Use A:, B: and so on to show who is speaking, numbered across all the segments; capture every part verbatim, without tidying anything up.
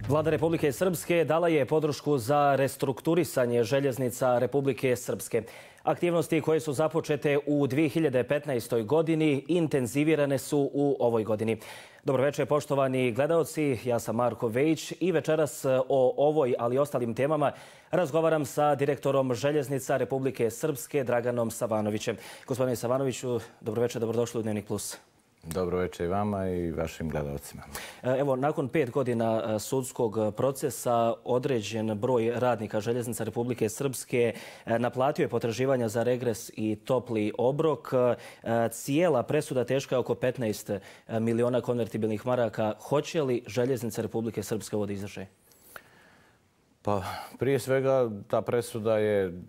A: Vlada Republike Srpske dala je podršku za restrukturisanje željeznica Republike Srpske. Aktivnosti koje su započete u dvije hiljade petnaestoj. godini intenzivirane su u ovoj godini. Dobro večer, poštovani gledaoci. Ja sam Marko Vejić i večeras o ovoj, ali i ostalim temama razgovaram sa direktorom željeznica Republike Srpske, Draganom Savanovićem. Gospodine Savanoviću, dobro večer, dobrodošli u Dnevnik plus.
B: Dobro večer i vama i vašim gledalcima.
A: Evo, nakon pet godina sudskog procesa određen broj radnika željeznica Republike Srpske naplatio je potraživanja za regres i topli obrok. Cijela presuda teška je oko petnaest miliona konvertibilnih maraka. Hoće li željeznica Republike Srpske ovo da izdrže?
B: Pa prije svega ta presuda je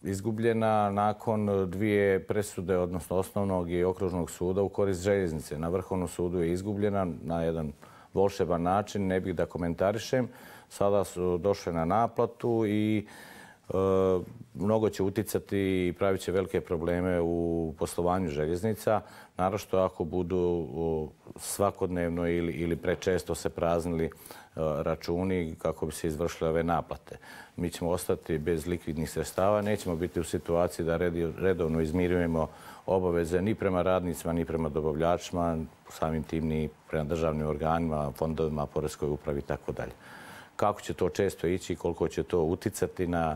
B: izgubljena nakon dvije presude, odnosno osnovnog i okružnog suda u korist željeznice. Na Vrhovnom sudu je izgubljena na jedan volšeban način, ne bih da komentarišem. Sada su došle na naplatu i e, mnogo će uticati i pravit će velike probleme u poslovanju željeznica, naročito ako budu svakodnevno ili, ili prečesto se praznili računi kako bi se izvršile ove naplate. Mi ćemo ostati bez likvidnih sredstava, nećemo biti u situaciji da redovno izmirujemo obaveze ni prema radnicima, ni prema dobavljačima, samim tim ni prema državnim organima, fondovima, poreskoj upravi i tako dalje. Kako će to često ići i koliko će to uticati na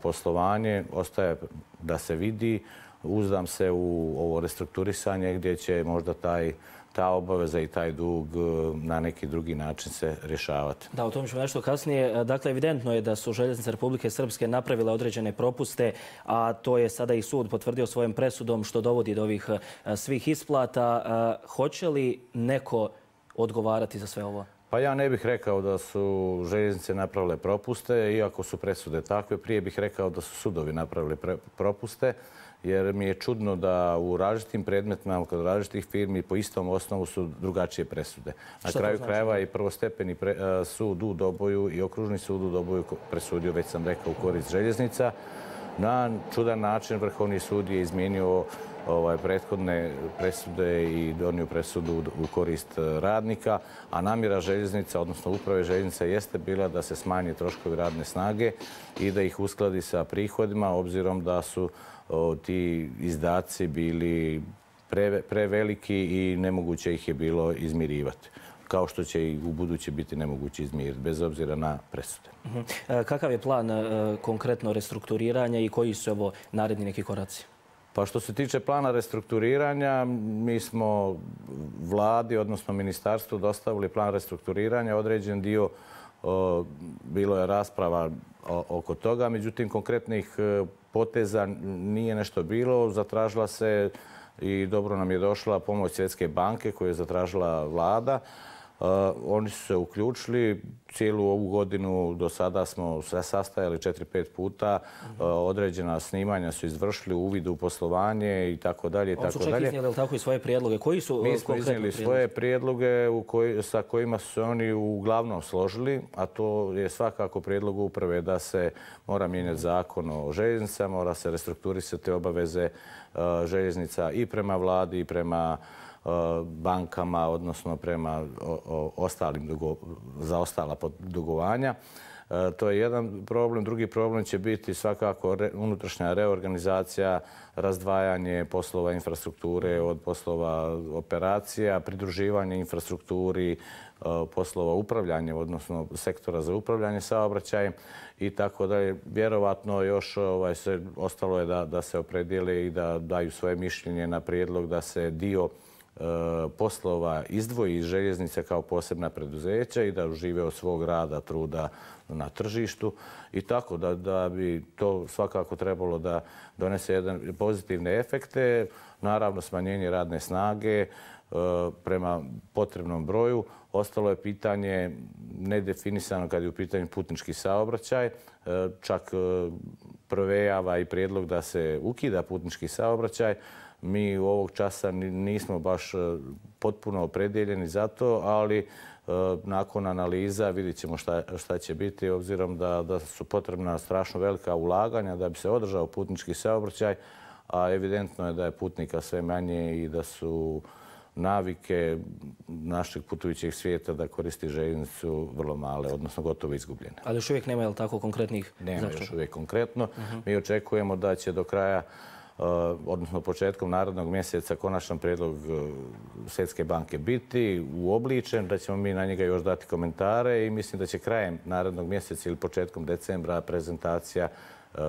B: poslovanje, ostaje da se vidi. Uzdam se u ovo restrukturisanje gdje će možda taj ta obaveza i taj dug na neki drugi način se rješavati.
A: Da, o tom ćemo nešto kasnije. Dakle, evidentno je da su željeznice Republike Srpske napravile određene propuste, a to je sada i sud potvrdio svojom presudom što dovodi do ovih svih isplata. Hoće li neko odgovarati za sve ovo?
B: Pa ja ne bih rekao da su željeznice napravile propuste, iako su presude takve. Prije bih rekao da su sudovi napravili propuste, jer mi je čudno da u različitim predmetima, kod različitih firmi, po istom osnovu su drugačije presude. Na kraju krajeva i prvostepeni sud u Doboju i okružni sud u Doboju presudio, već sam rekao, u korist željeznica. Na čudan način Vrhovni sud je izmijenio ovaj, prethodne presude i donio presudu u korist radnika, a namjera željeznica, odnosno uprave željeznica, jeste bila da se smanje troškovi radne snage i da ih uskladi sa prihodima, obzirom da su o, ti izdaci bili pre, preveliki i nemoguće ih je bilo izmirivati, kao što će i u buduće biti nemoguće izmiriti, bez obzira na presude.
A: Uh-huh. Kakav je plan uh, konkretno restrukturiranja i koji su ovo naredni neki koraci?
B: Pa što se tiče plana restrukturiranja, mi smo vladi, odnosno ministarstvu, dostavili plan restrukturiranja. Određen dio o, bilo je rasprava o, oko toga, međutim konkretnih poteza nije nešto bilo. Zatražila se i dobro nam je došla pomoć Svjetske banke koju je zatražila vlada. Uh, oni su se uključili. Cijelu ovu godinu do sada smo se sastajali četiri pet puta. Uh, određena snimanja su izvršili, uvid u poslovanje i tako dalje.
A: Oni su čak iznijeli tako i svoje prijedloge. Koji su
B: Mi smo iznijeli svoje prijedloge u koji, sa kojima su se oni uglavnom složili, a to je svakako prijedlog uprave da se mora mijenjati zakon o željeznicama, mora se restrukturisati obaveze uh, željeznica i prema vladi i prema bankama, odnosno prema ostalim za ostala dugovanja. To je jedan problem. Drugi problem će biti svakako unutrašnja reorganizacija, razdvajanje poslova infrastrukture od poslova operacija, pridruživanje infrastrukturi, poslova upravljanja, odnosno sektora za upravljanje saobraćajem i tako dalje. Vjerovatno još ovaj, se, ostalo je da, da se opredijele i da daju svoje mišljenje na prijedlog da se dio poslova izdvoji iz željeznice kao posebna preduzeća i da užive od svog rada, truda na tržištu i tako da, da bi to svakako trebalo da donese jedan pozitivne efekte. Naravno, smanjenje radne snage prema potrebnom broju. Ostalo je pitanje nedefinisano kad je u pitanju putnički saobraćaj. Čak provejava i prijedlog da se ukida putnički saobraćaj. Mi u ovog časa nismo baš potpuno opredjeljeni za to, ali nakon analiza vidjet ćemo šta, šta će biti, obzirom da, da su potrebna strašno velika ulaganja da bi se održao putnički saobraćaj, a evidentno je da je putnika sve manje i da su navike našeg putujućeg svijeta da koristi željeznicu vrlo male, odnosno gotovo izgubljene.
A: Ali još uvijek nema, je li tako, konkretnih
B: Nema
A: zaključaka?
B: još uvijek konkretno. Mi očekujemo da će do kraja, odnosno početkom narednog mjeseca, konačan prijedlog Svjetske banke biti uobličen, da ćemo mi na njega još dati komentare i mislim da će krajem narednog mjeseca ili početkom decembra prezentacija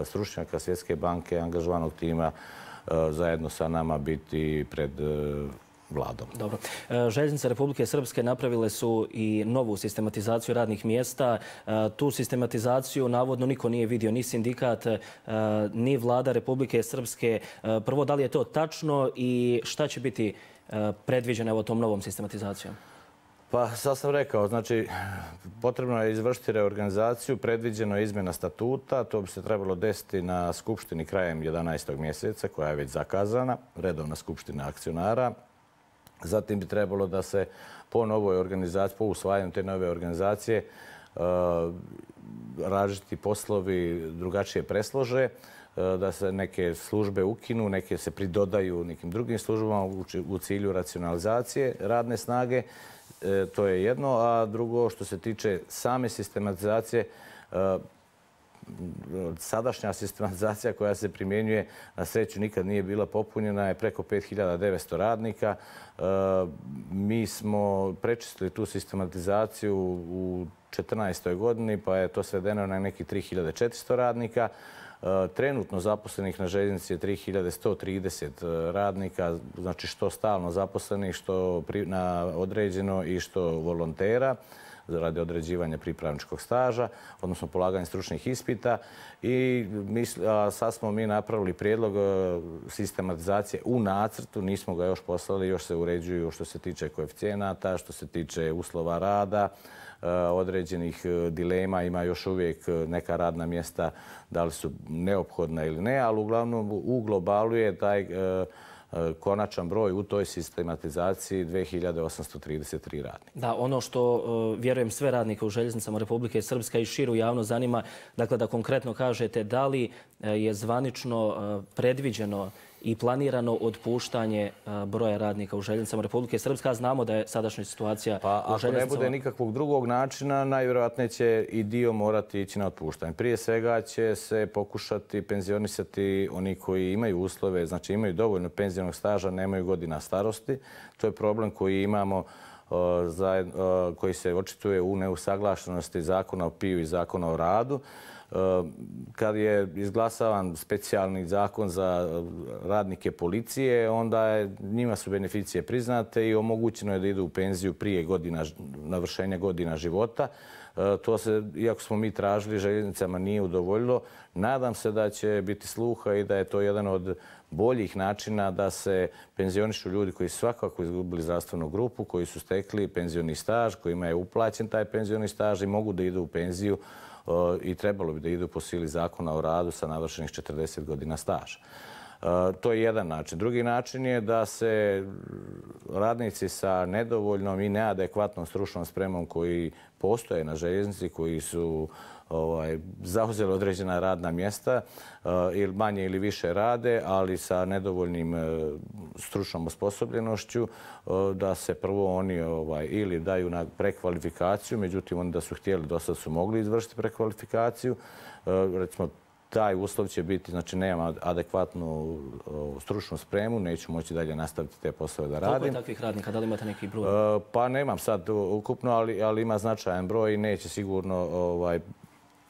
B: stručnjaka Svjetske banke, angažovanog tima, zajedno sa nama biti pred vladom.
A: Dobro. Željeznice Republike Srpske napravile su i novu sistematizaciju radnih mjesta. Tu sistematizaciju navodno niko nije vidio, ni sindikat, ni vlada Republike Srpske. Prvo, da li je to tačno i šta će biti predviđeno tom novom sistematizacijom?
B: Pa, sad sam rekao, znači, potrebno je izvršiti reorganizaciju, predviđeno je izmjena statuta, to bi se trebalo desiti na skupštini krajem jedanaestog mjeseca, koja je već zakazana, redovna skupština akcionara. Zatim bi trebalo da se po novoj organizaciji, po usvajanju te nove organizacije, različiti poslovi drugačije preslože, da se neke službe ukinu, neke se pridodaju nekim drugim službama u cilju racionalizacije radne snage. To je jedno, a drugo što se tiče same sistematizacije, sadašnja sistematizacija koja se primjenjuje, na sreću nikad nije bila popunjena, je preko pet hiljada devetsto radnika. Mi smo prečistili tu sistematizaciju u četrnaestoj godini, pa je to svedeno na neki tri hiljade četiristo radnika. Trenutno zaposlenih na željeznici je tri hiljade sto trideset radnika, znači što stalno zaposlenih, što na određeno i što volontera radi određivanja pripravničkog staža, odnosno polaganja stručnih ispita. I sad smo mi napravili prijedlog sistematizacije u nacrtu, nismo ga još poslali, još se uređuju što se tiče koeficijenata, što se tiče uslova rada, određenih dilema, ima još uvijek neka radna mjesta, da li su neophodna ili ne, ali uglavnom u globalu je taj konačan broj u toj sistematizaciji dve hiljade osamsto trideset tri radnika.
A: Da, ono što vjerujem sve radnike u željeznicama Republike Srpske i širu javno zanima, dakle da konkretno kažete da li je zvanično predviđeno i planirano otpuštanje broja radnika u željeznicama Republike Srpske, a znamo da je sadašnja situacija u željeznicama...
B: Pa ako ne bude nikakvog drugog načina, najvjerojatnije će i dio morati ići na otpuštanje. Prije svega će se pokušati penzionisati oni koji imaju uslove, znači imaju dovoljno penzionog staža, nemaju godina starosti. To je problem koji imamo, koji se očituje u neusaglašenosti zakona o P I U i zakona o radu. Kad je izglasavan specijalni zakon za radnike policije, onda je, njima su beneficije priznate i omogućeno je da idu u penziju prije godina, navršenja godina života. To se, iako smo mi tražili, željeznicama nije udovoljilo. Nadam se da će biti sluha i da je to jedan od boljih načina da se penzionišu ljudi koji su svakako izgubili zdravstvenu grupu, koji su stekli penzioni staž, kojima je uplaćen taj penzioni staž i mogu da idu u penziju i trebalo bi da idu po sili zakona o radu sa navršenih četrdeset godina staža. To je jedan način. Drugi način je da se radnici sa nedovoljnom i neadekvatnom stručnom spremom koji postoje na željeznici, koji su zauzeli određena radna mjesta, ili manje ili više rade, ali sa nedovoljnim stručnom osposobljenošću, da se prvo oni ili daju na prekvalifikaciju, međutim oni da su htjeli, do sad su mogli izvršiti prekvalifikaciju. Recimo, taj uslov će biti, znači nema adekvatnu stručnu spremu, neću moći dalje nastaviti te poslove da radim.
A: Koliko je takvih radnika? Da li imate neki broj?
B: Pa nemam sad ukupno, ali ima značajan broj i neće sigurno,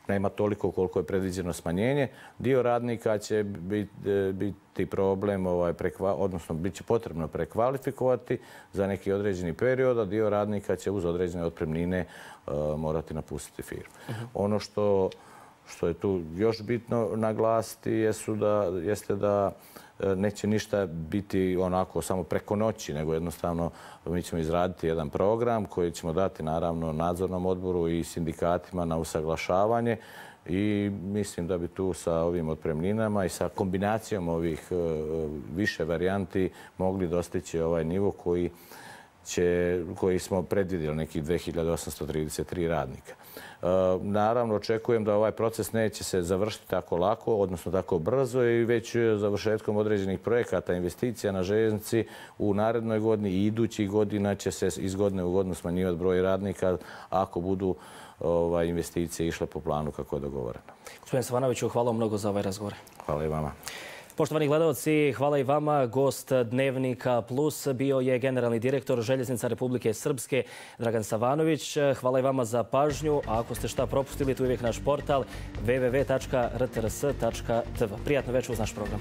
B: nema toliko koliko je predviđeno smanjenje. Dio radnika će biti problem, odnosno bit će potrebno prekvalifikovati za neki određeni period, a dio radnika će uz određene otpremnine morati napustiti firmu. Ono što Što je tu još bitno naglasiti jeste da neće ništa biti onako samo preko noći, nego jednostavno mi ćemo izraditi jedan program koji ćemo dati naravno nadzornom odboru i sindikatima na usaglašavanje i mislim da bi tu sa ovim otpremninama i sa kombinacijom ovih više varijanti mogli dostići ovaj nivo koji će, koji smo predvidjeli, nekih dvije hiljade osamsto trideset tri radnika. Naravno, očekujem da ovaj proces neće se završiti tako lako, odnosno tako brzo i već završetkom određenih projekata, investicija na željeznici u narednoj godini i idućih godina će se iz godine u godinu smanjivati broj radnika ako budu investicije išle po planu kako je dogovoreno.
A: Gospodine Savanoviću, hvala mnogo za ovaj razgovor.
B: Hvala i vama.
A: Poštovani gledalci, hvala i vama. Gost Dnevnika Plus bio je generalni direktor Željeznica Republike Srpske Dragan Savanović. Hvala i vama za pažnju, a ako ste šta propustili, tu je uvijek naš portal w w w tačka r t r s tačka t v. Prijatno večer uz naš program.